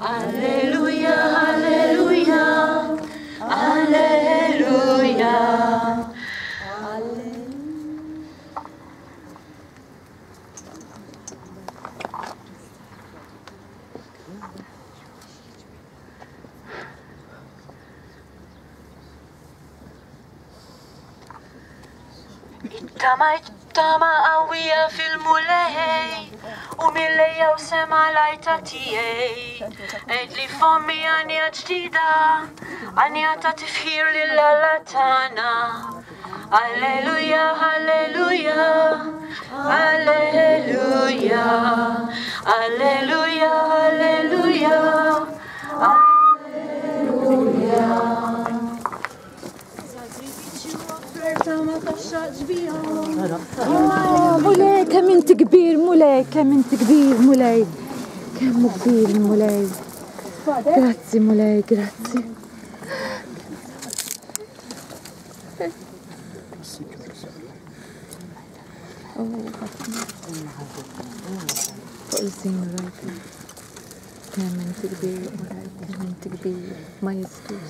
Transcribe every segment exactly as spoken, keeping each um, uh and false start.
Alleluja, alleluja, alleluja. Ittamajt tama qawwija fil-Mulej u mill-lejja u sema l-għajta tiegħi. Għidli fommi għanja ġdida, għanja ta' tifħir lil Alla tagħna. Alleluja, alleluja, alleluja, alleluja, alleluja, alleluja. Mulej, kemm inti kbir, Mulej, kemm inti kbir, Mulej, kemm kbir, Mulej. Grazzi, Mulej, grazzi. Fuq il-żin rajt. Kemm inti kbir, Mulej, kemm inti kbir, majestus.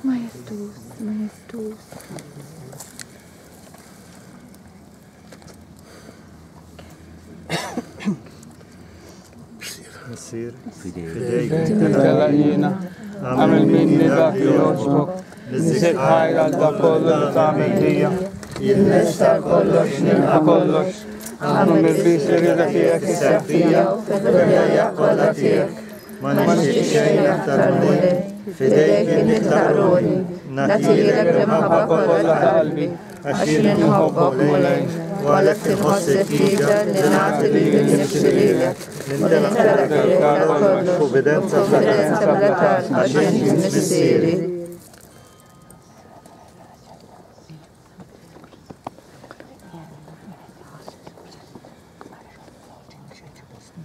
Majestus, majestus. Missier, Fidejk telaqina, għamil minni dak li jogħġbok, niżżid ħajr għal dak kollu li tagħmel lija. Jien nista' kollox, nilqa' kollox, għamlu mill-bis li rida tiegħek isseħħ fija u fil-ħajja kollha tiegħek. Ma nixtieq xejn aktar Mulej, fidejk nitlaq ruħi, nagħtilek l-imħabba kollha ta' qalbi, għax jien inħobbok Mulej, u għalhekk inħoss il-ħtieġa li nagħti lili nnifsi lilek, nintelaq lilek għal kollox f'ubbidenza bla tarf, għax int missieri.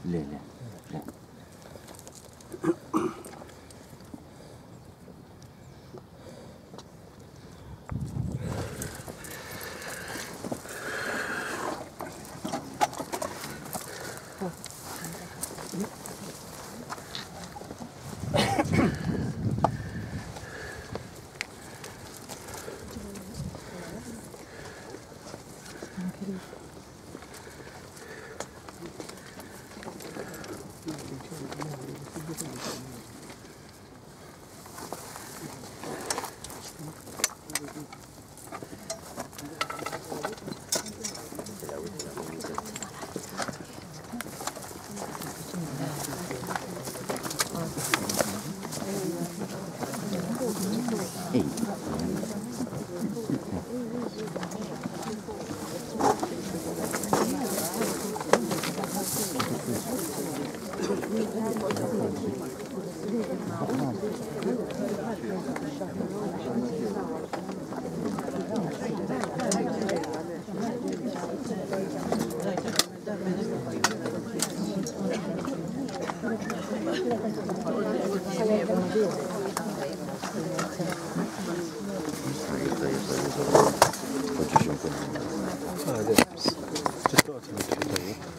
Le, le, le.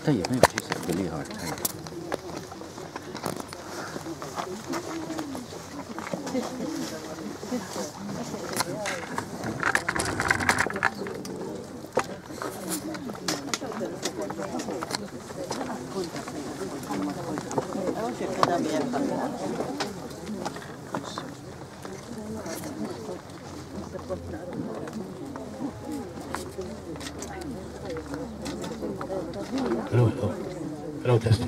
طيب ما يمشي باللي هارد. Hello, hello. Hello, testing.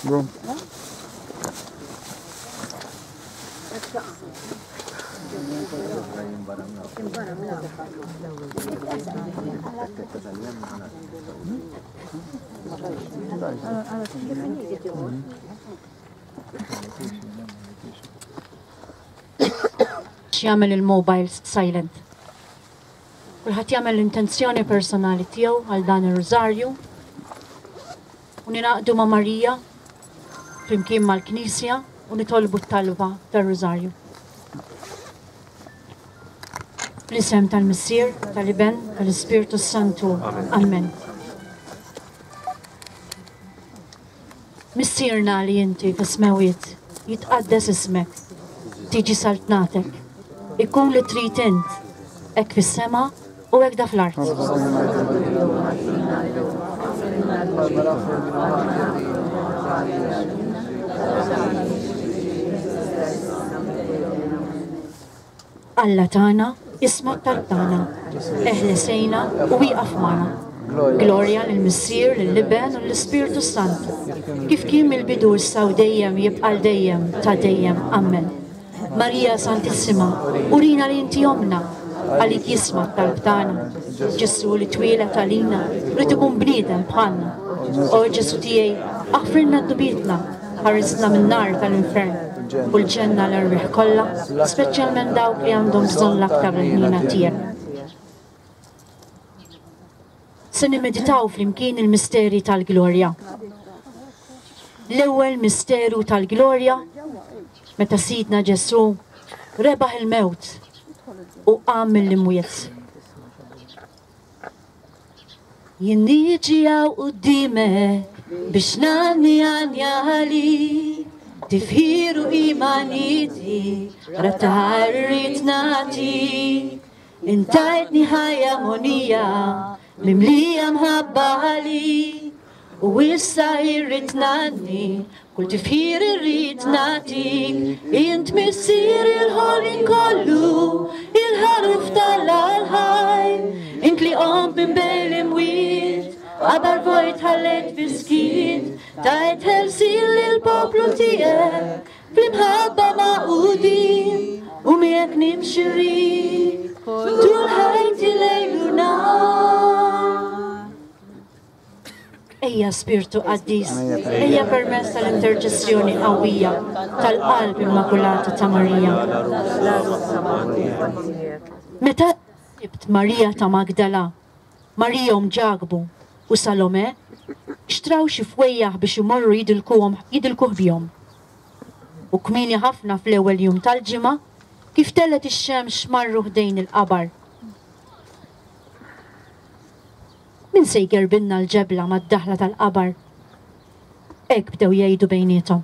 Bro. biex jagħmel il-mobiles silent. Kulħadd jagħmel l-intenzjoni personali tiegħu għal dan ir-rużarju u ningħaqdu ma' Marija flimkien mal-Knisja u nitolbu t-talba tar-rużarju. Fl-isem tal-Missier, tal-Iben, tal-Ispirtu Santu. Amen. Missierna li inti fis-smewwiet, jitqaddes ismek, tiġi saltnatek, ikun li trid int, hekk fis-sema u hekk da fl-art. Alla tagħna, isma' t-talb tagħna, eħlesejna u wieqaf magħna. Glorja lill-Missier, lill-Iben u lill-Ispirtu Santu, kif kien mill-bidu issa u dejjem jibqa' l dejjem ta' dejjem. Amen. Marija Santissima, urina li inti omna, għalik jisma' t-talb tagħna. Ġesu li twieled għalina, rrid ikun bniedem bħalna. O Ġesu tiegħi, aħfrilna dnubietna, ħarisna min-nar tal-infern u l-ġenna l-erwieħ kollha, speċjalment dawk li għandhom bżonn l-aktar il-ħnina tiegħek. Se nimmeditaw flimkien il-misteri tal-glorja. L-ewwel misteru tal-glorja meta Sidna Ġesu rebaħ il-mewt u qam mill-imwiet. Jien niġi hawn qudiemek biex ngħanni għanja għalik, tifħir u imaniti, rabtaħar irrid nagħtik. Intajtni ħajja monija, mimlija mħabba għalik, u issa irrid ngħanni, kull tifħir irrid nagħtik. Int missier il-ħolqien kollu, il-ħaruf tal-ħaj, int li qomt minn bejn l-imwiet, qabar vojt ħallejt fiskiet, tajt ħelsien lill-poplu tiegħek, fl-imħabba magħqudin, u miegħek nimxi rrid, tul ħajti lejl u nhar. Ejja Spirtu Qaddis, ejja permezz tal-interċessjoni qawwija tal-qalb Immakulata ta' Marija. Meta sibt Marija ta' Magdala, Marija omm Ġakbu u Salome, xtraw xi fwejjaħ biex imorru jidilkuhom jidilkuh bihom. U kmieni ħafna fl-ewwel jum tal-ġimgħa, kif tellet ix-xemx marru ħdejn il-qabar. Min se jgerbinna l-ġebla mad-daħla tal-qabar? Hekk bdew jgħidu bejniethom.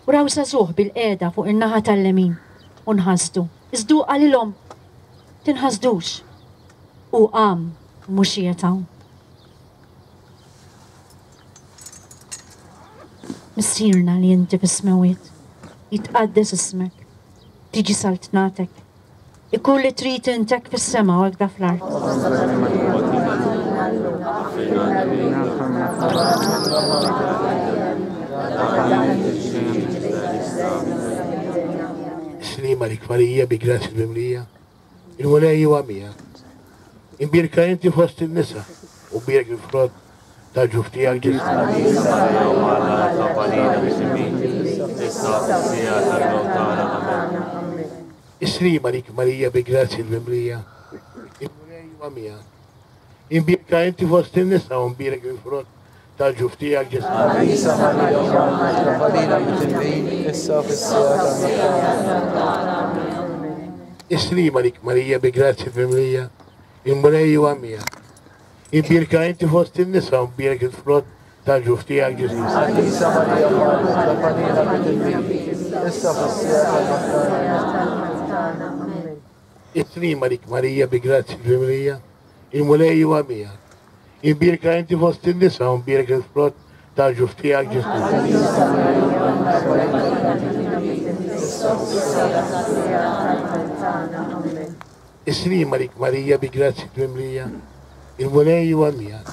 U raw żagħżugħ bil-qiegħda fuq in-naħa tal-lemin u nħasdu. Iżdu qalilhom, tinħasdux. U qam mhux qiegħed hawn. Missierna li inti fis-smewwiet, jitqaddes ismek, tiġi saltnatek, ikun li trid int hekk fis-sema u hekk da fl-art. Slima lik Marija bi grazzja mimlija, il-Mulej huwa miegħek. Imbierka inti fost in-nisa u bierek il-frott tal-ġuf tiegħek Ġesu. Islima lik Marija bi grazzja mimlija, il-Mulej huwa miegħek. Imbierka inti fost in-nisa u mbierek il-frott tal-ġuf tiegħek Ġesu. Islima lik Marija bi grazzja mimlija, il-Mulej huwa miegħek. Imbierka inti fost in-nisa u mbierek il-frott tal-ġuf tiegħek Ġesu. Islima lik Marija bi grazzja mimlija, il-Mulej huwa miegħek. Imbierka inti fost in-nisa u mbierek il-frott tal-ġuf tiegħek Ġesu. Islima lik Marija bi grazzja mimlija, il-Mulej huwa miegħek.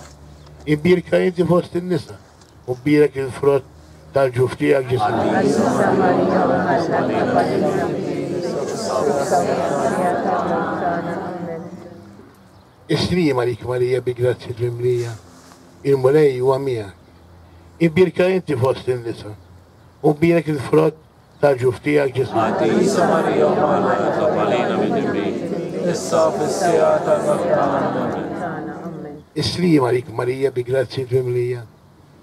Imbierka inti fost in-nisa u mbierek il-frott tal-ġuf tiegħek Ġesu. Islima lik Marija bi grazzja mimlija, il-Mulej huwa miegħek. Imbierka inti fost in-nisa u mbierek il-frott tal-ġuf tiegħek Ġesù. Qaddisa Marija Omm Alla, itlob għalina midinbin, issa u fis-siegħa tal-mewt tagħna. Amen. Is-sliem għalik Marija bi grazzja mimlija,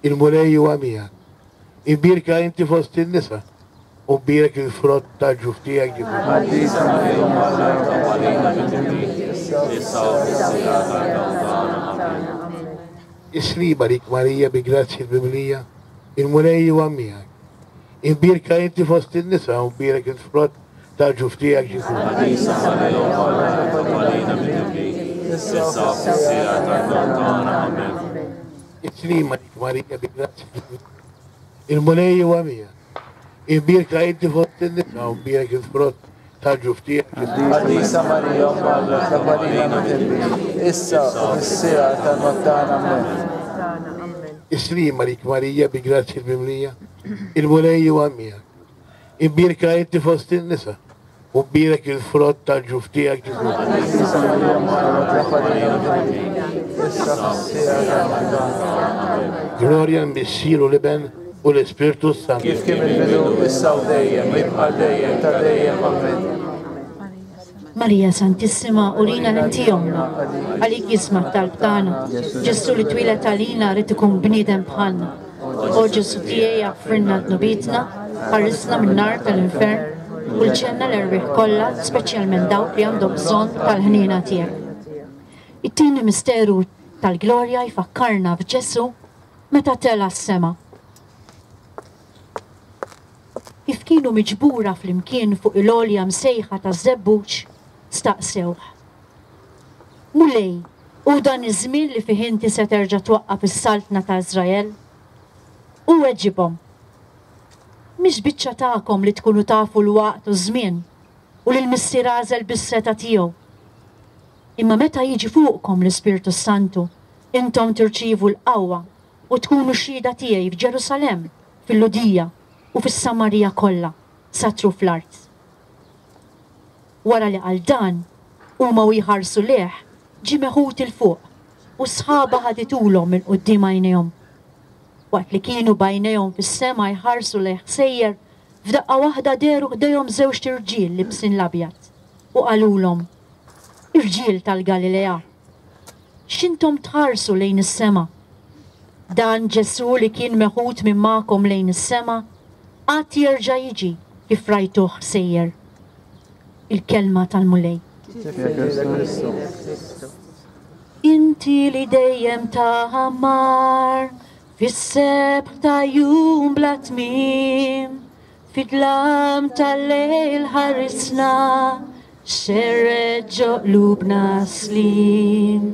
il-Mulej huwa miegħek. Imbierka inti fost in-nisa u mbierek il-frott tal-ġuf tiegħek Ġesù. Qaddisa Marija Omm Alla, itlob għalina midinbin, issa u fis-siegħa tal-mewt tagħna. Amen. Is-sliem għalik Marija bi grazzja mimlija, il-Mulej huwa miegħek. Imbierka inti fost in-nisa u mbierek il-frott tal-ġuf tiegħek Ġesù. Qaddisa Marija Omm Alla, itlob għalina midinbin, issa u fis-siegħa tal-mewt tagħna. Amen. Is-sliem għalik Marija bi grazzja mimlija, il-Mulej huwa miegħek. Imbierka inti fost in-nisa u mbierek il-frott tal-ġuf tiegħek Ġesù. Qaddisa Marija Omm Alla, itlob għalina midinbin, issa u fis-siegħa tal-mewt tagħna. Amen. Is-sliem għalik Marija bi grazzja mimlija, il-Mulej huwa miegħek. Imbierka inti fost in-nisa u mbierek il-frott tal-ġuf tiegħek Ġesù. Qaddisa Marija Omm Alla, itlob għalina midinbin, issa u fis-siegħa tal-mewt tagħna. Glorja l-Missier u l-Iben u l-Ispirtu s-Santu. Kif kien il-bidu, issa u dejjem, jibqa' dejjem ta' dejjem. Amen. Marija Santissima, urina l-inti ommna, għalik jisma' t-talb tagħna. Ġesù li twieled għalina rrid ikun bniedem bħalna. O Ġesù tiegħi aħfrilna dnubietna, ħarisna min-nar tal-infern u l-ġenna l-erwieħ kollha, speċjalment dawk li għandhom bżonn tal-ħniena tiegħek. It-tieni misteru tal-glorja jfakkarna f'Ġesù meta tela' s-sema. Kif kienu miġbura flimkien fuq il-għolja msejħa taż-Żebbuġ, staqsewh: Mulej, u dan iż-żmien li fih inti se terġa' twaqqaf is-saltna ta' Iżrael? U weġibhom: Mhix biċċa tagħkom li tkunu tafu l-waqt u ż-żmien u li l-Missier għażel bis-seta tiegħu. Imma meta jiġi fuqkom l-Ispirtu Santu, intom tirċievu l-qawwa u tkunu xhieda tiegħi f'Ġerusalemm, fil-Lhudija u fis-Samarija kollha, sa truf l-art. Wara li qal dan, huma u jħarsu lejh, ġie meħud 'il fuq u sħaba ħaditulhom minn quddiem għajnejhom. Waqt li kienu b'għajnejhom fis-sema jħarsu lejh sejjer, f'daqqa waħda dehru ħdejhom żewġt irġiel libsin l-abjad u qalulhom: Irġiel tal-Galilea, x'intom tħarsu lejn is-sema? Dan Ġesù li kien meħud minn magħkom lejn is-sema, għad jerġa' jiġi kif rajtuh sejjer. Il-kelma tal-Mulej. Inti li dejjem taħammar fis-sebħ ta' jum bla tmiem, fid-dlam tal-lejl ħarisna, xerred ġo qlubna slim.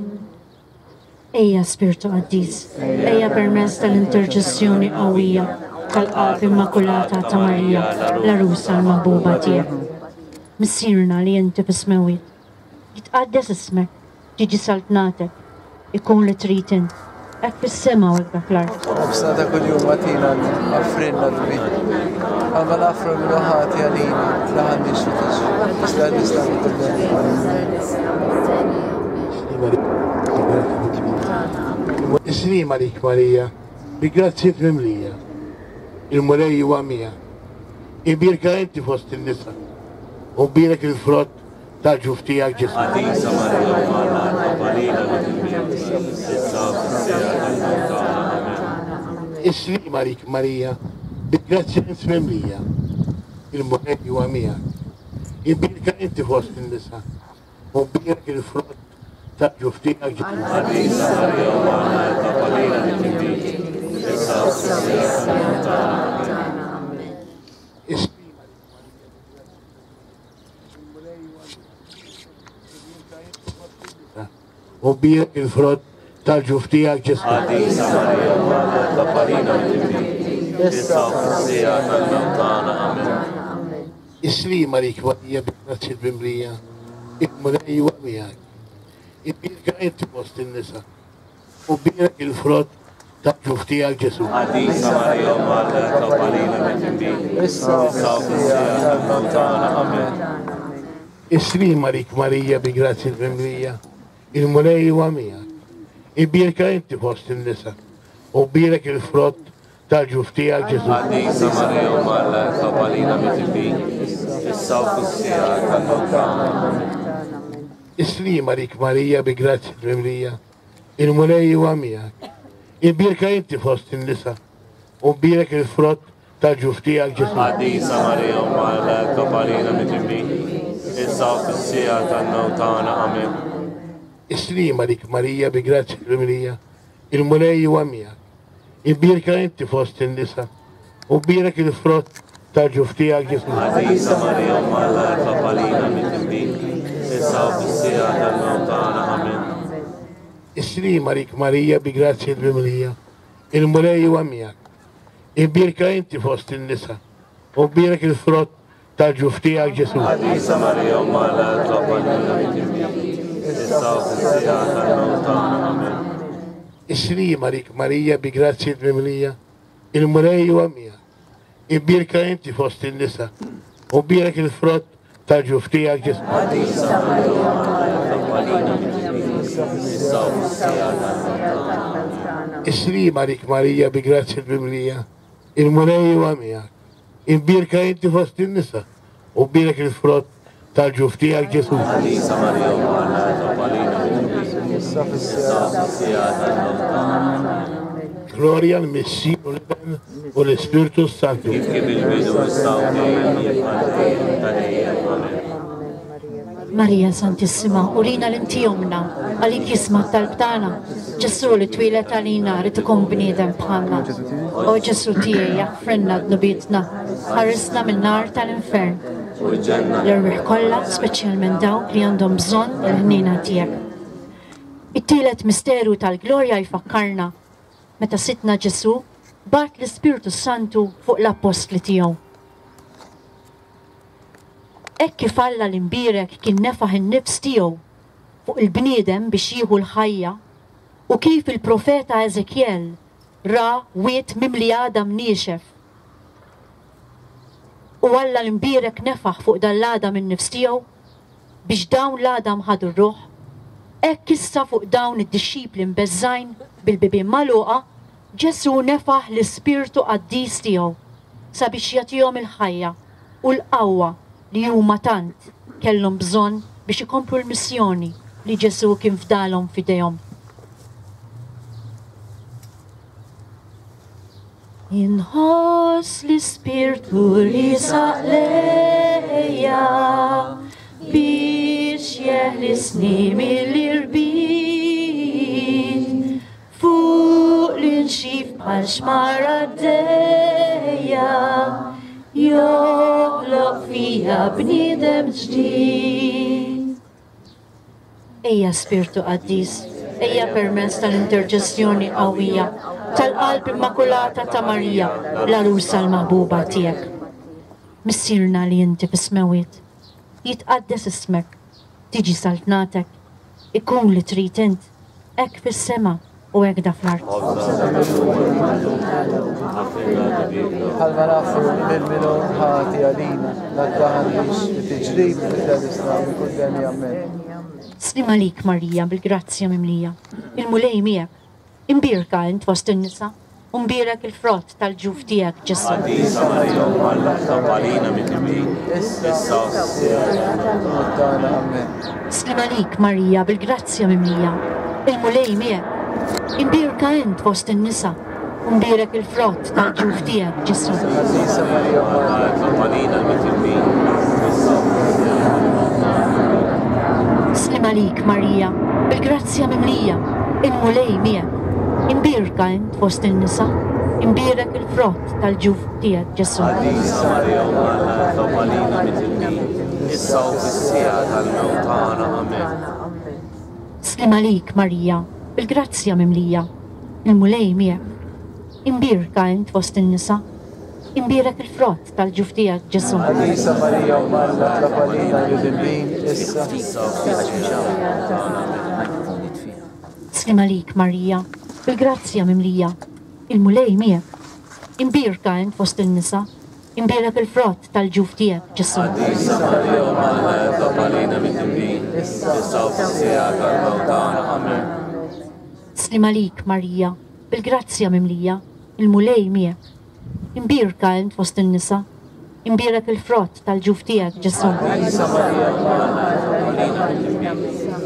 Ejja Spirtu Qaddis, ejja permezz tal-interċessjoni qawwija tal-Qalb Immakulata ta' Marija, l-għarusa l-maħbuba tiegħek. Missierna li inti fis-smewwiet, jitqaddes ismek, tiġi saltnatek, ikun li trid int, hekk fis-sema u hekk fl-art. Ħobżna ta' kuljum agħtina llum, aħfrilna dnubietna, bħalma naħfru lil ħati għalina, tlaħanniex fi tiġrib, iżda eħlisna mid-dnub. Is-sliem għalik Marija, bi grazzja mimlija, il-Mulej huwa miegħek. Imbierka inti fost in-nisa u mbierek il-frott tal-ġuf tiegħek Ġesù. Qaddisa Marija Omm Alla, itlob għalina midinbin, issa u fis-siegħa tal-mewt tagħna. Amen. Is-sliem għalik Marija, bi grazzja mimlija, il-Mulej huwa miegħek. Imbierka inti fost in-nisa u mbierek il-frott tal-ġuf tiegħek Ġesù. Qaddisa Marija Omm Alla, itlob għalina midinbin, issa u fis-siegħa tal-mewt tagħna. Amen. Is-sliem u mbierek il-frott tal-ġuf tiegħek Ġesù. Qaddisa Marija Omm Alla, itlob għalina midinbin, issa u fis-siegħa tal-mewt tagħna. Amen. Is-sliem għalik Marija bi grazzja mimlija, il-Mulej huwa miegħek. Imbierka inti fost in-nisa u mbierek il-frott tal-ġuf tiegħek Ġesù. Qaddisa Marija Omm Alla, itlob għalina midinbin, Issa u issa u fis-siegħa fis-siegħa tal-mewt tagħna. Amen. Is-sliem għalik Marija bi grazzja mimlija, il-Mulej huwa miegħek. Imbierka inti fost in-nisa u mbierek il-frott tal-ġuf tiegħek Ġesù. Qaddisa Marija Omm Alla, itlob għalina midinbin, issa u fis-siegħa tal-mewt tagħna. Amen. Is-sliem għalik Marija bi grazzja mimlija, il-Mulej huwa miegħek. Imbierka inti fost in-nisa, u mbierek il-frott tal-ġuf tiegħek Ġesù. Qaddisa Marija Omm Alla, itlob għalina midinbin, issa u fis-siegħa tal-mewt tagħna. Amen. Is-sliem għalik Marija bi grazzja mimlija, il-Mulej huwa miegħek. Imbierka inti fost in-nisa, u mbierek il-frott tal-ġuf tiegħek Ġesù. Qaddisa Marija Omm Alla, itlob għalina midinbin, issa u fis-siegħa tal-mewt tagħna. Amen. Is-sliem għalik Marija bi grazzja mimlija, il-Mulej huwa miegħek. Imbierka inti fost in-nisa, u mbierek il-frott tal-ġuf tiegħek Ġesù. Qaddisa Marija Omm Alla, itlob għalina midinbin, issa u fis-siegħa tal-mewt tagħna. Amen. Is-sliem għalik Marija bi grazzja mimlija, il-Mulej huwa miegħek. Imbierka inti fost in-nisa, u mbierek il-frott tal-ġuf tiegħek Ġesù. Qaddisa Marija Omm Alla, itlob għalina midinbin, issa u fis-siegħa tal-mewt tagħna. Is-sliem għalik Marija bi grazzja mimlija, il-Mulej huwa miegħek. Imbierka inti fost in-nisa, u mbierek il-frott tal-ġuf tiegħek Ġesù. Qaddisa Marija Omm Alla, itlob għalina midinbin, issa u fis-siegħa tal-mewt tagħna. Gloria al-Missier u l-Iben u l-Ispirtu Santu. Kif kien il-bidu issa u dejjem għal dejjem ta' dejjem. Amen. Marija Santissima, urina l-inti omna, għalik jisma' t-talb tagħna. Ġesù li twieled għalina rid ikun bniedem bħalna. O Ġesù tiegħi jaħfrilna dnubietna, ħarisna min-nar tal-infern. U l-ġenna L-erwieħ kollha, speċjalment dawk li għandhom bżonn il-ħniena tiegħek. It-tielet misteru tal-glorja jfakkarna meta Sidna Ġesù bagħat l-Ispirtu Santu fuq l-appostli tiegħu. Hekk kif Alla l-imbierek kien nefaħ in-nifs tiegħu fuq il-bniedem biex jieħu l-ħajja, u kif il-profeta Eżekjel ra wied mimli għadam niexef. U Alla l-imbierek nefaħ fuq dan l-għadam in-nifs tiegħu biex dawn l-għadam ħadu r-ruħ. Hekk issa fuq dawn id-dixxipli mbeżżgħin bil-bibien magħluqa, Ġesù nefaħ l-Ispirtu Qaddis tiegħu sabiex jagħtihom il-ħajja u l-qawwa li huma tant kellhom bżonn biex ikomplu l-missjoni li Ġesù kien fdalhom f'idejhom. Inħoss l-Ispirtu li saq lejja biex jeħlisni mill-irbit, fuq l-inxif bħal xmara għaddejja, joħloq fija bniedem ġdid. Ejja Spirtu Qaddis, ejja permezz tal-interċessjoni qawwija tal-qalb immakulata ta' Marija, l-għarusa l-maħbuba tiegħek. Missierna li inti fis-smewwiet, jitqaddes ismek, tiġi saltnatek, ikun li trid int, hekk fis-sema u hekk da fl-art. Bħalma nafu lil min hu ħati għalina, la ddaħħalniex fi tiġrib iżda minn kull deni. Amen. Sliem għalik Marija bil-grazzja mimlija, il-Mulej miegħek, imbierka int fost in-nisa, u mbierek il-frott tal-ġuf tiegħek Ġesù. Qaddisa Marija Omm Alla, itlob għalina midinbin, issa u fis-siegħa tal-mewt tagħna. Amen. Sliem għalik Marija bil-grazzja mimlija, il-Mulej miegħek, imbierka int fost in-nisa, u mbierek il-frott tal-ġuf tiegħek Ġesù. Qaddisa Marija Omm Alla, itlob għalina midinbin, issa u fis-siegħa tal-mewt tagħna. Sliem għalik Marija bil-grazzja mimlija, il-Mulej miegħek, imbierka int fost in-nisa, imbierek il-frott tal-ġuf tiegħek Ġesù. Qaddisa Marija Omm Alla, itlob għalina midinbin, issa u fis-siegħa tal-mewt tagħna. Amen. Sliem għalik Marija bil-grazzja mimlija, il-Mulej miegħek, imbierka int fost in-nisa, imbierek il-frott tal-ġuf tiegħek Ġesù. Qaddisa Marija Omm Alla, itlob għalina midinbin, issa Sliem għalik Marija bil-grazzja mimlija, il-Mulej miegħek, imbierka int fost in-nisa, imbierek il-frott tal-ġuf tiegħek Ġesù. Qaddisa Marija Omm Alla, itlob għalina midinbin, issa u fis-siegħa tal-mewt tagħna. Amen. Sliem għalik Marija bil-grazzja mimlija, Il-Mulej miegħek. Imbierka int fost in-nisa, imbierek il-frott tal-ġuf tiegħek, Ġesù. Qaddisa Marija, Omm Alla, itlob għalina midinbin,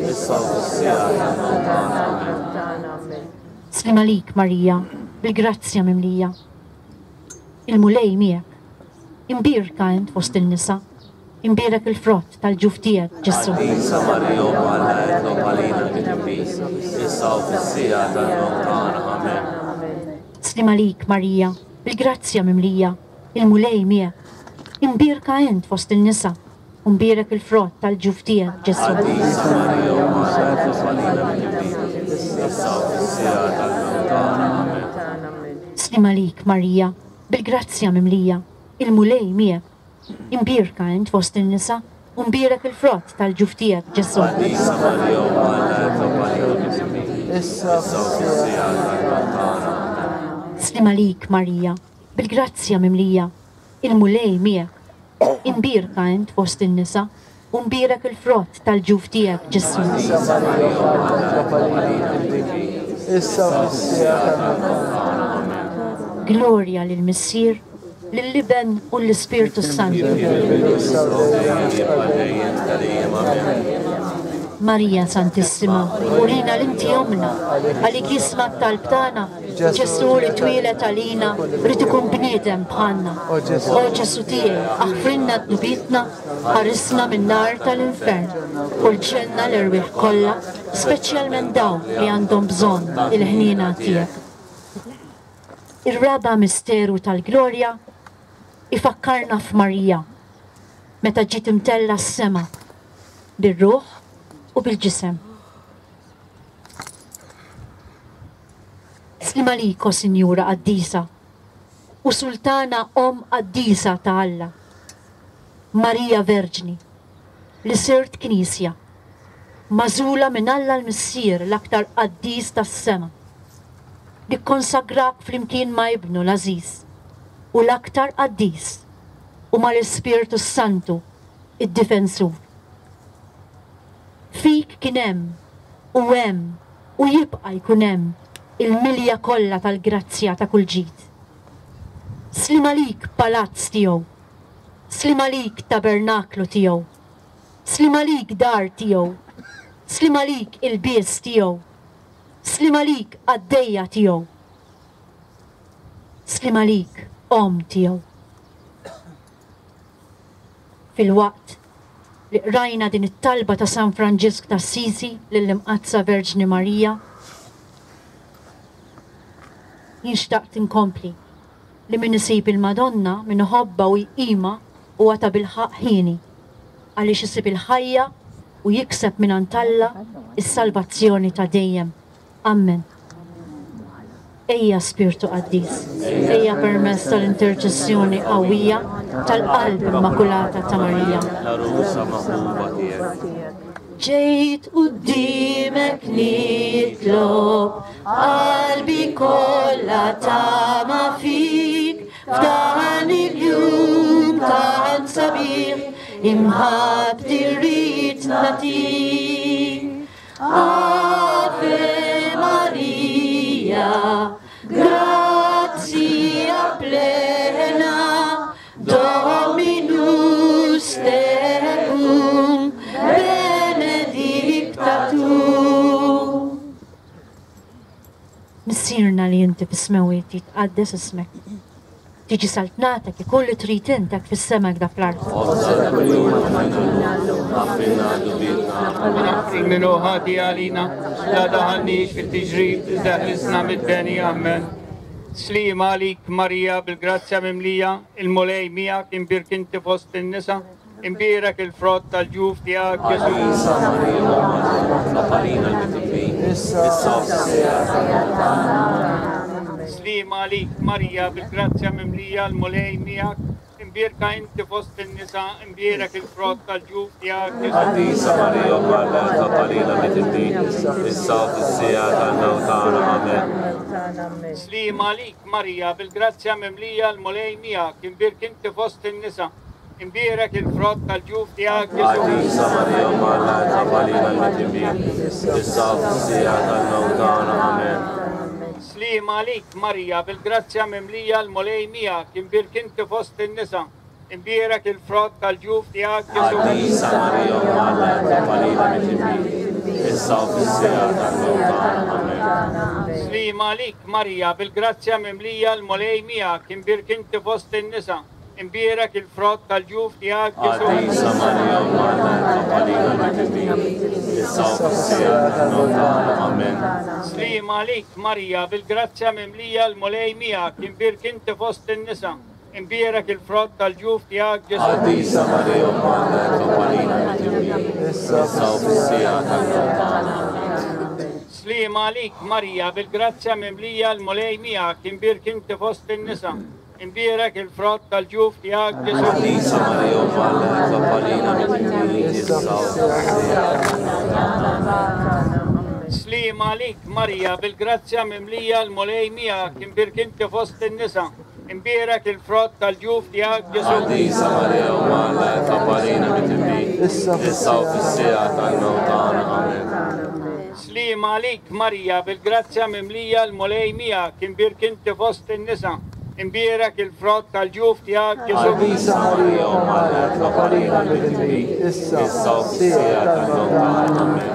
issa u fis-siegħa tal-mewt tagħna. Amen. Sliem għalik Marija, bil-grazzja mimlija. Il-Mulej miegħek. Imbierka int fost in-nisa, imbierek il-frott tal-ġuf tiegħek, Ġesù. Qaddisa Marija, Omm Alla, itlob għalina midinbin, issa u fis-siegħa tal-mewt tagħna. Amen. Sliem għalik Marija, bil-grazzja mimlija, il-Mulej miegħek. Imbierka int fost in-nisa, u mbierek il-frott tal-ġuf tiegħek, Ġesù. Qaddisa Marija, Omm Alla, itlob għalina midinbin, issa u fis-siegħa tal-mewt tagħna. Amen. Sliem għalik Marija, bil-grazzja mimlija, il-Mulej miegħek. Imbierka int fost in-nisa, u mbierek il-frott tal-ġuf tiegħek, Ġesù. Qaddisa Marija, Omm Alla, itlob għalina midinbin, issa u fis-siegħa tal-mewt tagħna. Amen. Sliem għalik Marija, bil-grazzja mimlija, il-Mulej miegħek. Imbierka int fost in-nisa, u mbierek il-frott tal-ġuf tiegħek, Ġesù. Qaddisa Marija, Omm Alla, itlob għalina midinbin, Issa u fis-siegħa tal-mewt tagħna. Amen. Glorja lill-Missier, lill-Iben u l-Ispirtu Santu. Issa u dejjem Dejjem dejjem ta' dejjem. Amen. Marija Santissima, urina l-inti omna, għalik jisma' t-talb tagħna, Ġesù li twieled għalina, rrid ikun bniedem bħalna. O Ġesù. O Ġesù tiegħi, aħfrilna dnubietna, ħarisna min-nar tal-infern, u l-ġenna l-erwieħ kollha, speċjalment dawk li għandhom bżonn il-ħniena tiegħek. Ir-raba' misteru tal-glorja ifakkarna f'Marija, meta ġiet imtella s-sema bir-ruħ u bil-ġisem. Sliem għalik, o Sinjura Qaddisa, u Sultana Omm Qaddisa ta' Alla, Marija Verġni, li sirt Knisja, magħżula minn Alla l-Missier l-aktar qaddis tas-sema, li kkonsagrak flimkien ma' Ibnu l-Għażiż u l-aktar qaddis u mal-Ispirtu Santu, id-Difensur. Fik kien hemm u hemm u jibqa' jkun hemm il-milja kollha tal-grazzja ta' kull ġid. Sliem għalik palazz tiegħu, sliem għalik tabernaklu tiegħu, sliem għalik dar tiegħu, sliem għalik il-bies tiegħu, sliem għalik qaddejja tiegħu, sliem għalik omm tiegħu. Fil-waqt li qrajna din it-talba ta' San Franġisk ta' Assisi lill-Imqaddsa Verġni Marija, jien xtaqt inkompli li min isib il-Madonna, min iħobbha u jqima huwa ta' bilħaqq ħieni, għaliex isib il-ħajja u jikseb mingħand Alla is-salvazzjoni ta' dejjem. Amen. Ejja Spirtu Qaddis, ejja permezz tal-interċessjoni qawwija tal-Qalb Immakulata ta' Marija. L-għarusa maħbuba tiegħek. Ġejt qudiemek nitlob, qalbi kollha tama fik, f'dan il-jum tant sabiħ, imħabbti rrid nagħtik. Ave Maria, gratia plena, Dominus tecum, benedicta tu. Missierna li inti fis-smewwiet, jitqaddes ismek. Tiġi saltnatek, ikun li trid int hekk fis-sema hekk fl-art. Ħobżna kuljum agħtina llum, aħfrilna dnubietna, Min hu ħati għalina, la daħalniex fit-tiġrib, iżda ħlisna mid-deni. Amen. Sliem għalik Marija bil-grazzja mimlija, il-Mulej miegħek, imbierka inti fost in-nisa, imbierek il-frott tal-ġuf tiegħek, Ġesù. Qaddisa Marija, Omm Alla, itlob għalina l-midinbin, issa u fis-siegħa tal-mewt tagħna. Amen. Sliem għalik Marija bil-grazzja mimlija, l-Mulej miegħek, imbierka inti fost in-nisa, imbierek il-frott tal-ġuf tiegħek, Ġesù. Qaddisa Marija, Omm Alla, itlob għalina midinbin, issa u fis-siegħa tal-mewt tagħna. Amen. Sliem għalik Marija bil-grazzja mimlija, l-Mulej miegħek, imbierka inti fost in-nisa, imbierek il-frott tal-ġuf tiegħek, Ġesù. Qaddisa Marija, Omm Alla, itlob għalina l-midinbin, issa u fis-siegħa tal-mewt tagħna. Amen. Sliem Sliema għalik Marija, bil-grazzja mimlija l-Mulej miegħek, imbierek inti fost in-nisa, imbierek il-frott tal-ġuf tiegħek Ġesù. Qaddisa Marija Omm Alla, itlob għalina midinbin, issa u fis-siegħa tal-mewt tagħna. Amen. Sliema għalik Marija, bil-grazzja mimlija l-Mulej miegħek, imbierek inti fost in-nisa, imbierek il-frott tal-ġuf tiegħek Ġesù. Qaddisa Marija Omm Alla, itlob għalina midinbin, issa u fis-siegħa tal-mewt tagħna. Amen. Sliema għalik Marija, bil-grazzja mimlija l-Mulej miegħek, imbierek inti fost in-nisa, imbierek il-frott tal-ġuf tiegħek Ġesù. Qaddisa Marija Omm Alla, itlob għalina midinbin, issa u fis-siegħa tal-mewt tagħna. Amen. Sliema għalik Marija, bil-grazzja mimlija l-Mulej miegħek, imbierek inti fost in-nisa, imbierek il-frott tal-ġuf tiegħek Ġesù. Qaddisa Marija Omm Alla, itlob għalina midinbin, issa u fis-siegħa tal-mewt tagħna. Sliema għalik Marija, bil-grazzja mimlija l-Mulej miegħek, imbierek inti fost in-nisa, imbierek il-frott tal-ġuf tiegħek Ġesù. Qaddisa Marija Omm Alla, itlob għalina midinbin, issa u fis-siegħa tal-mewt tagħna. Amen. Sliema għalik Marija, bil-grazzja mimlija l-Mulej miegħek, imbierek inti fost in-nisa, imbierek il-frott tal-ġuf tiegħek Ġesù. Qaddisa Marija Omm Alla, itlob għalina midinbin, issa Issa u fis-siegħa tal-mewt tagħna. Amen.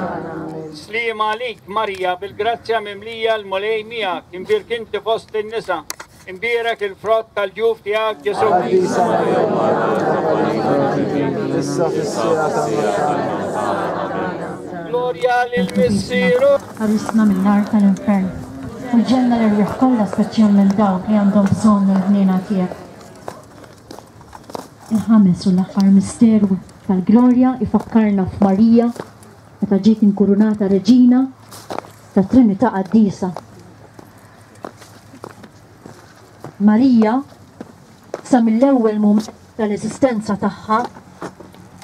Sliema għalik Marija, bil-grazzja mimlija l-Mulej miegħek, imbierek inti fost in-nisa, imbierek il-frott tal-ġuf tiegħek Ġesù. Qaddisa Marija Omm Alla, itlob għalina midinbin, issa fis-siegħa tal-mewt tagħna. Glorja lill-Missieru. Ħarisna min-nar tal-infern u l-ġenna l-erwieħ kollha, speċjalment dawk li għandhom bżonn il-ħniena tiegħek. Il-ħames u l-aħħar misteru tal-glorja ifakkarna f'Marija meta ġiet inkurunata reġina ta' Trinità Qaddisa. Marija sa mill-ewwel mument tal-eżistenza tagħha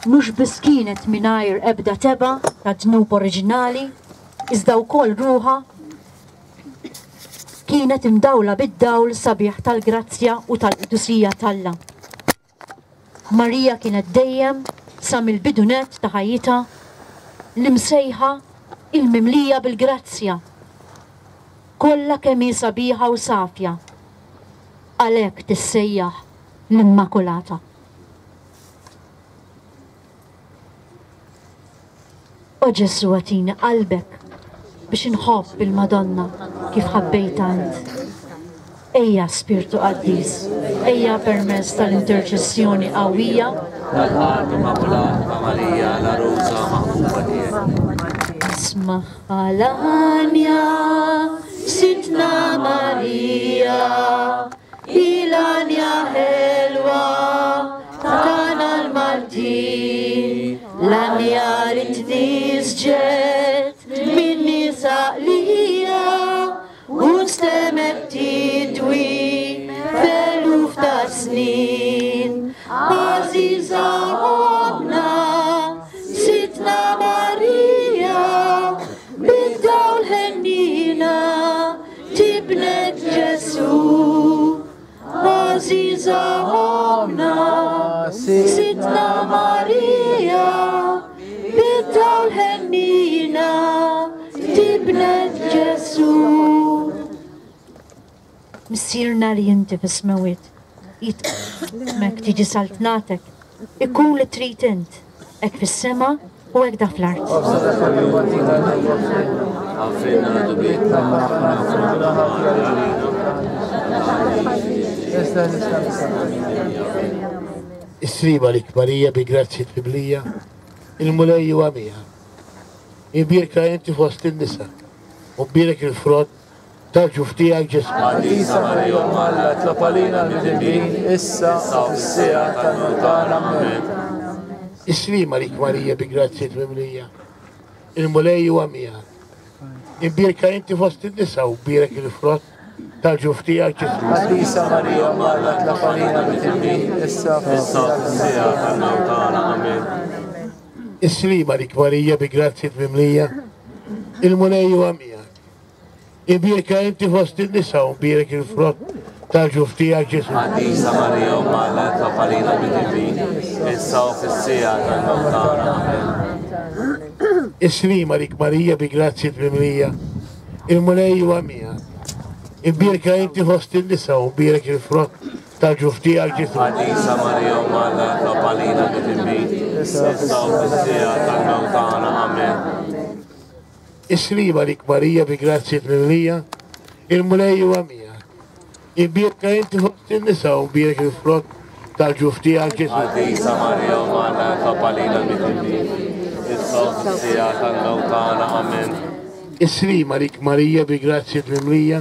mhux biss kienet mingħajr ebda teba ta' dnub oriġinali, iżda wkoll ruħha kienet imdawla bid-dawl sabiħ tal-grazzja u tal-qdusija t'Alla. Marija kienet dejjem sa mill-bidunet ta' ħajjitha l-imsejħa il-mimlija bil-grazzja, kollha kemm hi sabiħa u safja, għalhekk tissejjaħ l-Immakulata. O Ġesù, agħtini qalbek biex inħobb il-Madonna kif ħabbejtha int. Ejja Spirtu Qaddis, ejja permezz tal-interċessjoni qawwija Tal-Qalb Immakulata ta' Marija, l-għarusa maħbuba tiegħek. Isma' l-għanja, Sidna Marija, il-għanja ħelwa tagħna l-Maltin, l-għanja li tnisġet minn nisa qlija u nstemet tidwi f'eluf ta' snin. Għażiża ommna, Sidna Marija, bid-dawl ħennina tibnet Ġesù. Għażiża ommna, Sidna Marija, bid-dawl ħennina tibnet Ġesù. Missierna li inti fis-smewwiet, jitqmek tiġi saltnatek, ikun li trid int, hekk fis-sema u hekk da fl-art. Għafrilna dnubietna, Is-sliema għalik Marija bi grazzja mimlija, il-Mulej huwa miegħek. Imbierka inti fost in-nisa, u mbierek il-frott tal-ġuf tiegħek Ġesù. Qaddisa Marija Omm Alla, itlob għalina midinbin, issa u fis-siegħa tal-mewt tagħna. Amen. Is-sliema għalik Marija bi grazzja mimlija, il-Mulej huwa miegħek. Imbierka inti fost in-nisa u mbierek il-frott tal-ġuf tiegħek Ġesù. Qaddisa Marija Omm Alla, itlob għalina midinbin, issa u Issa u fis-siegħa tal-mewt tagħna. Amen. Is-sliema għalik Marija bi grazzja mimlija, il-Mulej huwa miegħek. Imbierka inti fost in-nisa u mbierek il-frott tal-ġuf tiegħek Ġesù. Qaddisa Marija Omm Alla, itlob għalina midinbin, issa u fis-siegħa tal-mewt tagħna. Amen. Is-sliema għalik Marija bi grazzja mimlija, il-Mulej huwa miegħek. Imbierka inti fost in-nisa u mbierek il-frott tal-ġuf tiegħek Ġesù. Qaddisa Marija Omm Alla, itlob għalina midinbin, issa u fis-siegħa tal-mewt tagħna. Amen. Is-slima għalik Marija bi grazzja mimlija, il-Mulej huwa miegħek. Imbierka inti fost in-nisa u mbierek il-frott tal-ġuf tiegħek Ġesù. Qaddisa Marija Omm Alla, itlob għalina midinbin, issa u fis-siegħa tal-mewt tagħna. Amen. Is-slima għalik Marija bi grazzja mimlija,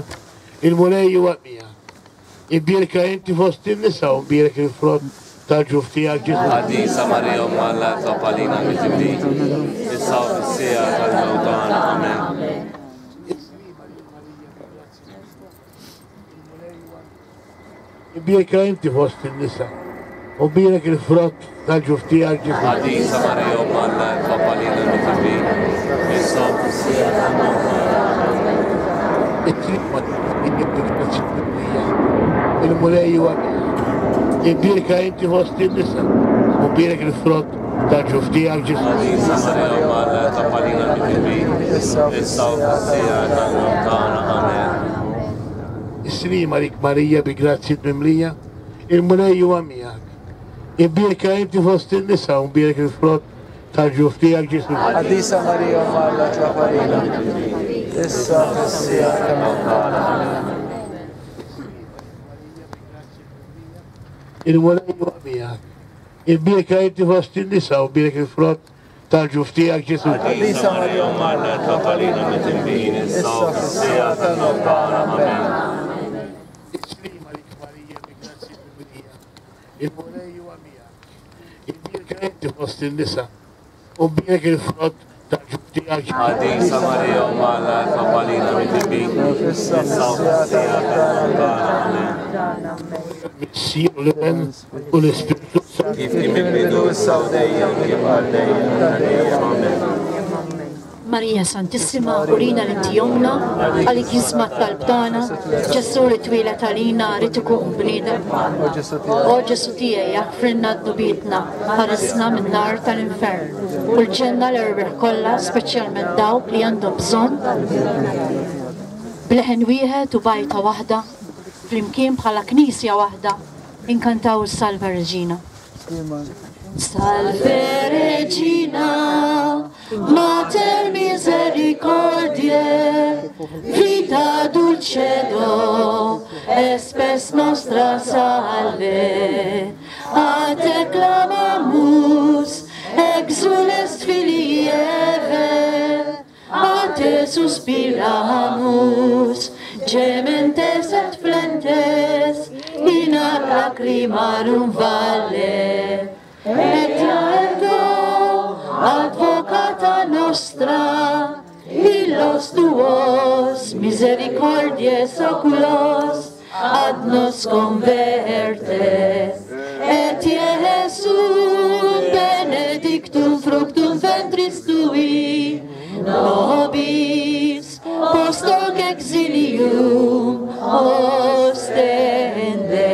il-Mulej huwa miegħek. Imbierka inti fost in-nisa u mbierek il-frott tal-ġuf tiegħek Ġesù. Qaddisa Marija Omm Alla, itlob għalina midinbin, issa u fis-siegħa tal-mewt tagħna. Amen. Imbierka inti fost in-nisa u mbierek il-frott tal-ġuf tiegħek Ġesù. Qaddisa Marija Omm Alla, itlob għalina midinbin, issa u fis-siegħa tal-mewt tagħna. Is-slima il-Mulej huwa miegħek. Imbierka inti fost in-nisa u mbierek il-frott tal-ġuf tiegħek Ġesù. Qaddisa Marija Omm Alla, itlob għalina midinbin, issa u fis-siegħa tal-mewt tagħna. Amen. Is-slima għalik Marija bi grazzja mimlija, il-Mulej huwa miegħek. Imbierka inti fost in-nisa u mbierek il-frott tal-ġuf tiegħek Ġesù. Qaddisa Marija Omm Alla, itlob għalina issa fis-siegħa tal-mewt tagħna. Amen. Il-Mulej huwa miegħek. Imbierka inti fost in-nisa u mbierek il-frott tal-ġuf tiegħek Ġesù. Qaddisa Marija Omm Alla, itlob għalina midinbin, issa u fis-siegħa tal-mewt tagħna. Amen. Is-slima għalik Marija bi grazzja mimlija, il-Mulej huwa miegħek. Imbierka inti fost in-nisa u mbierek il-frott tal-ġuf tiegħek Ġesù. Qaddisa Marija Omm Alla, itlob għalina midinbin, issa u fis-siegħa tal-mewt tagħna. Amen. Missier u l-Iben u l-Ispirtu Santu. Kif kien mill-bidu, issa u dejjem, kif għal dejjem, ta' dejjem. Amen. Marija Santissima, urina li inti ommna, għalik jisma' t-talb tagħna, Ġesù li twieled għalina rid ikun bniedem. O Ġesù tiegħi, aħfrilna dnubietna, ħarisna min-nar tal-infern, u l-ġenna l-erwieħ kollha, speċjalment dawk li għandhom bżonn. Bleħen wieħed u bajta waħda, flimkien bħala knisja waħda, inkantaw is-Salve Regina. Salve Regina, Mater misericordiae, vita dulcedo, espes nostra salve. A te clamamus, exules filii Eve, a te suspiramus, gementes et flentes, in ac lacrimarum valle. Et ergo, advocata nostra, illos tuos misericordies oculos ad nos converte. Et Iesum benedictum fructum ventris tui, nobis post hoc exilium ostende.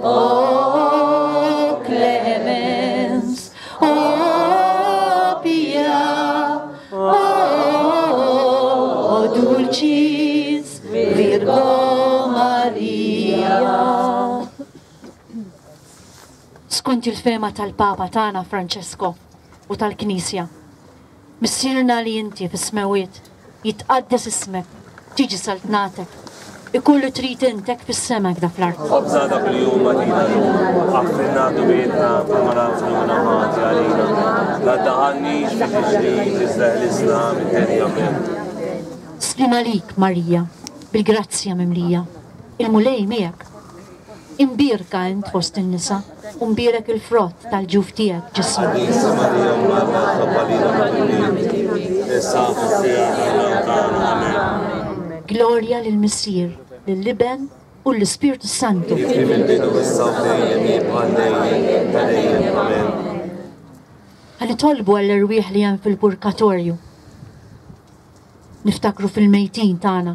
O clemens, o pia, o dulcis Virgo Maria. Skont il-fema tal-Papa tagħna Francesco u tal-Knisja, Missierna li inti fis-smewwiet, jitqaddes ismek, tiġi saltnatek, ikun li trid intek fis-sema da fl-art. Ħobżna dak il-jum għadina llum, aħfrilna dnubietna bħalma nagħfru minna ħati għalina. La ddaħħalniex fi tiġrib, iżda ħlisna mid-deni. Amen. Slim għalik Marija, bil-grazzja mimlija, il-Mulej miegħek. Imbierka int fost in-nisa, u mbierek il-frott tal-ġuf tiegħek Ġesù. Qaddisa Marija Omm Alla, itlob għalina midinbin, issa u fis-siegħa tal-mewt tagħna. Amen. Glorja lill-Missier, lill-Iben u l-Ispirtu Santu. Kif kien mill-bidu, issa u dejjem, jibqa' dejjem, ta' dejjem. Amen. Ħa nitolbu għall-erwieħ li hemm fil-purgatorju. Niftakru fil-mejtin tagħna.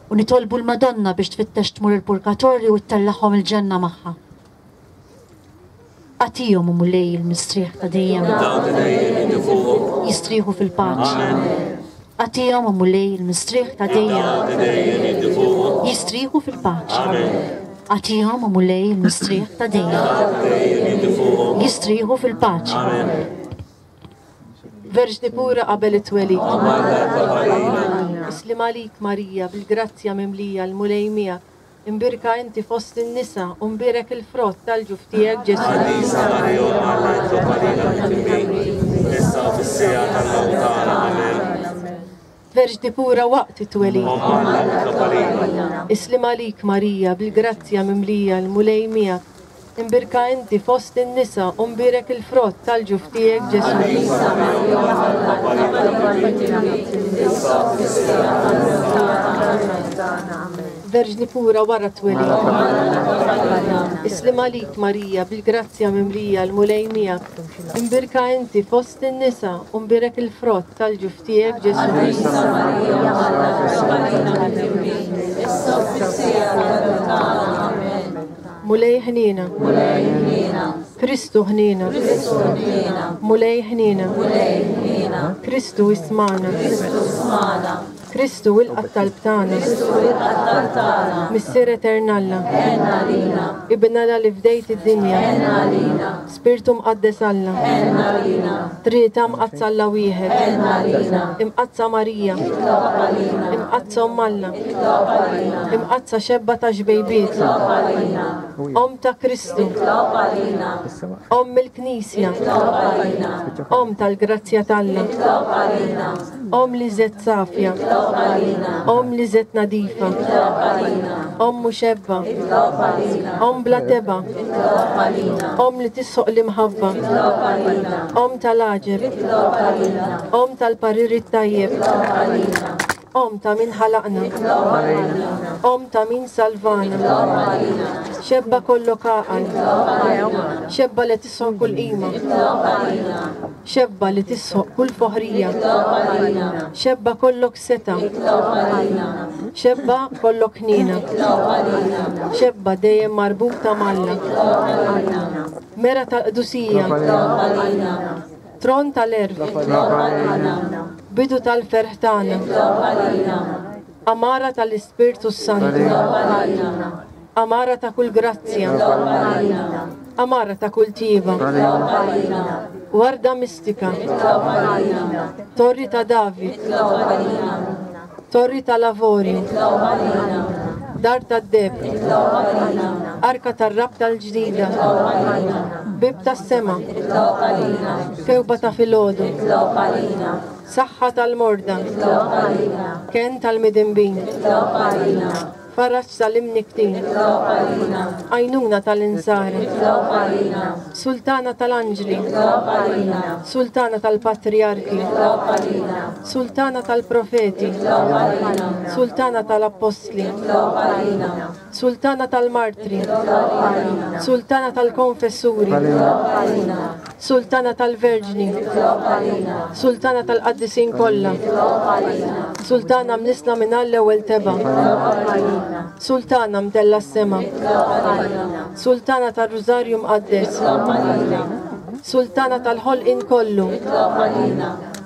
U nitolbu l-Madonna biex tfittex tmur il-purgatorju u ttellagħhom il-ġenna magħha. Agħtihom, o Mulej, il-mistrieħ ta' dejjem. Dawn ta' dejjem jiddu fuqhom. Jistrieħu fil-paċi. Amen. Agħtihom, o Mulej, il-mistrieħ ta' dejjem. Jistrieħu fil-paċi. Agħtihom, o Mulej, il-mistrieħ ta' dejjem. Jistrieħu fil-paċi. Verġni pura qabel it-twelid. Islim għalik Marija, bil-grazzja mimlija l-Mulej miegħek. Imbierka inti fost in-nisa u mbierek il-frott tal-ġuf tiegħek Ġesù. Qaddisa Marija, Omm Alla, itlob għalina midinbin, issa u fis-siegħa tal-mewt tagħna. Amen. Verġni pura waqt it-twelid. Omm Alla, itlob għalina. Islim għalik Marija, bil-grazzja mimlija l-Mulej miegħek. Imbierka inti fost in-nisa u mbierek il-frott tal-ġuf tiegħek Ġesù. Qaddisa Marija, Omm Alla, itlob għalina midinbin, issa u fis-siegħa tal-mewt tagħna. Amen. Verġni pura wara t-twelid. Islim għalik Marija, bil-grazzja mimlija l-Mulej miegħek. Imbierka inti fost in-nisa u mbierek il-frott tal-ġuf tiegħek Ġesù. Qaddisa Marija, Omm Alla, itlob għalina midinbin, issa u fis-siegħa tal-mewt tagħna. Amen. Mulej ħniena. Kristu ħniena. Mulej ħniena. Kristu ismana. Kristu ilqa' t-talb tagħna. Missier Etern Alla. Ibn Alla li fdejt id-dinja. Spirtu Mqaddes Alla. Trinità Mqaddsa Alla wieħed. Imqaddsa Marija. Imqaddsa Omm Alla. Imqaddsa xebba ta' xbejbiet. Omm ta' Kristu. Omm il-Knisja. Omm tal-grazzja t'Alla. Omm li żed safja. Omm li żed nadifa. Omm muxebba. Omm bla teba. Omm li tissoq l-imħabba. Omm tal-għaġeb. Omm tal-parir it-tajjeb. Omm ta' min ħalaqna. Omm ta' min salvana. Xebba kollok għaqal. Xebba li tissoq kull qima. Xebba li tissoq kull foħrija. Xebba kollok seta. Xebba kollok ħniena. Xebba dejjem marbuta m'Alla. Mera tal-qdusija. Tron tal-għerf. Bidu tal-ferħ tagħna. Amara tal-Ispirtu s-Santu. Amara ta' kull grazzja. Amara ta' kull tjieba. Warda mistika. Torri ta' David. Torri tal-Avorju. Dar tad-deheb. Arka tar-rabta l-ġdida. Bib tas-sema. Kewba ta' filgħodu. Saħħa tal-morda. Ken tal-midinbin. Faraġ tal-imniktin. Għajnuna tal-insara. Sultana tal-anġli. Sultana tal-patriarki. Sultana tal-profeti. Sultana tal-appostli. Sultana tal-martri. Sultana tal-konfessuri. Sultana tal-verġni. Sultana tal-qaddisin kollha. Sultana mnisla minn l-ewwel teba. Sultana mtella s-sema. Sultana tal-Rużarju Mqaddes. Sultana tal-ħolqien kollu.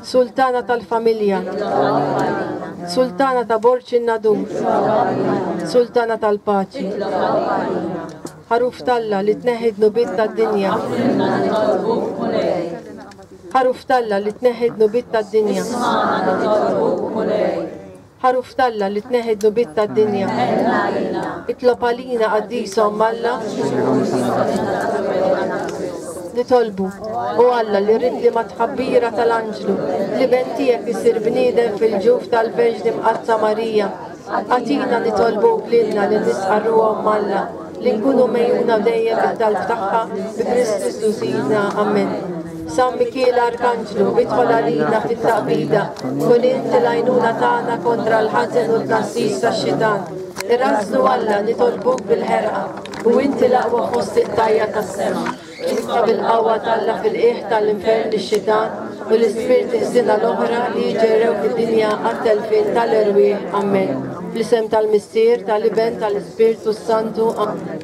Sultana tal-familja. Sultana ta' Borġ in-Nadur. Sultana tal-paċi. Ħaruf t'Alla li tneħħi dnubiet tad-dinja. Ħaruf t'Alla li tneħħi dnubiet tad-dinja. Ħaruf t'Alla li tneħħi dnubiet tad-dinja. Itlob għalina qaddisa Omm Alla. Nitolbu, o Alla li rrid li ma tħabbira tal-anġlu li ben tiegħek isir bniedem fil-ġuf tal-Verġni Mqaddsa Marija. Agħtina nitolbuk lilna li nisqarru Omm Alla li nkunu mejjuna dejjem bit-talb tagħha bi Kristu Sidna. Amen. San Mikiel Arkanġlu, idħol għalina fit-taqbida, kun inti l-għajnuna tagħna kontra l-ħażen u t-tnassis tax-xitan. Irrażnu Alla nitolbuk bil-ħerqa, u inti l-aqwa fost it-tajja tas-sema. Itfa' bil-qawwa t'Alla fil-qiegħ tal-infern lix-xitan u l-ispirti ħżiena l-oħra li jiġġerrew fid-dinja għat-telfien tal-erwieħ. Amen. Fl-isem tal-Missier, tal-Iben, tal-Ispirtu s-Santu. Amen.